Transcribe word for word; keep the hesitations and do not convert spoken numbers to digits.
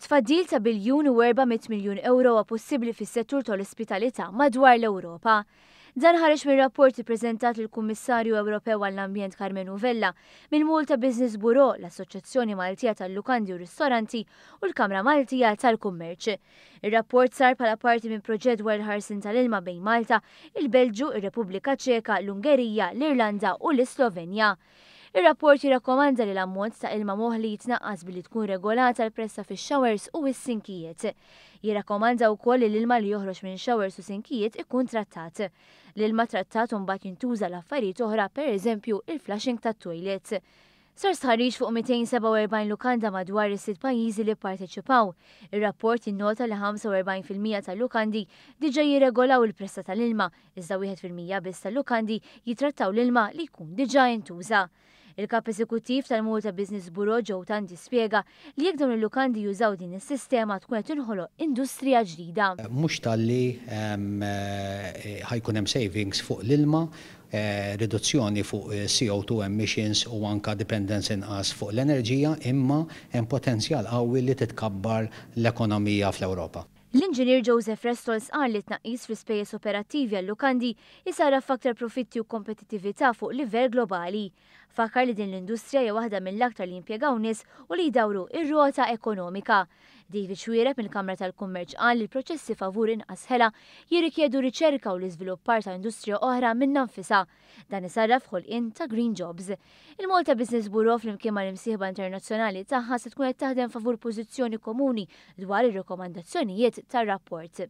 Tfaddil ta' biljun u erba' mitt miljun euro huwa possibbli fis-settur tal-ospitalità madwar l-Ewropa. Dan ħareġ minn rapport ippreżentat lill-Kummissarju Ewropew għall-Ambjent Karmenu Vella mill-Malta Business Bureau, l-Assoċjazzjoni Maltija tal-Lukandi u Ristoranti u l-Kamra Maltija tal-Kummerċ. Ir-rapport sar bħala parti minn proġett dwar il-ħarsien tal-ilma bejn Malta, il-Belġju, ir-Repubblika Ċeka, l-Ungerija, l-Irlanda u l-Islovenja. Ir-rapport jirrakkomanda li l-ammont ta' ilma moħli jitnaqqas billi tkun regolata l-pressa fix-showers u s-sinkijiet. Jirrakkomanda wkoll li l-ilma li joħroġ minn showers u sinkijiet ikun trattat. L-ilma trattat mbagħad jintuża l-affarijiet oħra, pereżempju il-flushing tat-toilet. Sar stħarriġ fuq mitejn sebgħa u erbgħin lukanda madwar is-sitt pajjiżi li pparteċipaw. Ir-rapport jinnota li ħamsa u erbgħin fil-mija tal-lukandi diġà jirregolaw il-pressa tal-ilma, iżda wieħed fil-mija biss tal-lukandi jitrattaw l-ilma li jkun diġà intuża. Il-kap eżekuttiv tal-Malta Business Bureau Joe Tanti spjega li jekk dawn il-lukandi jużaw din is-sistema tkun qed tinħoloq industrija ġdida. Mhux talli, ehm, eh, ħajkun hemm savings fuq l-ilma, eh, riduzzjoni fuq C O two emissions u anka dependence inqas fuq l-enerġija, imma hemm potenzjal qawwi li titkabbar l-ekonomija fl-Ewropa. L-inġinier Joseph Restols qal li tnaqqis fl-ispejjeż operattivi għal-lukandi jisarraf f'aktar profitti u kompetittività fuq livell globali. Fakkar li din l-industrija hija waħda mill-aktar li jimpjegaw nies u li jdawru ir-rota ekonomika. David Xuereb mill-Kamra tal-Kummerċ qal li l-proċessi favur inqas ħela jirrikjedu riċerka u l-iżviluppar ta' industrija oħra minnha nfisha. Dan isarraf ħolqien ta' green jobs. Il-Malta Business Bureau flimkien mal-imsieħba internazzjonali tagħha se tkun qed taħdem favur pożizzjoni komuni dwar ir-rakkomandazzjonijiet tar-rapport.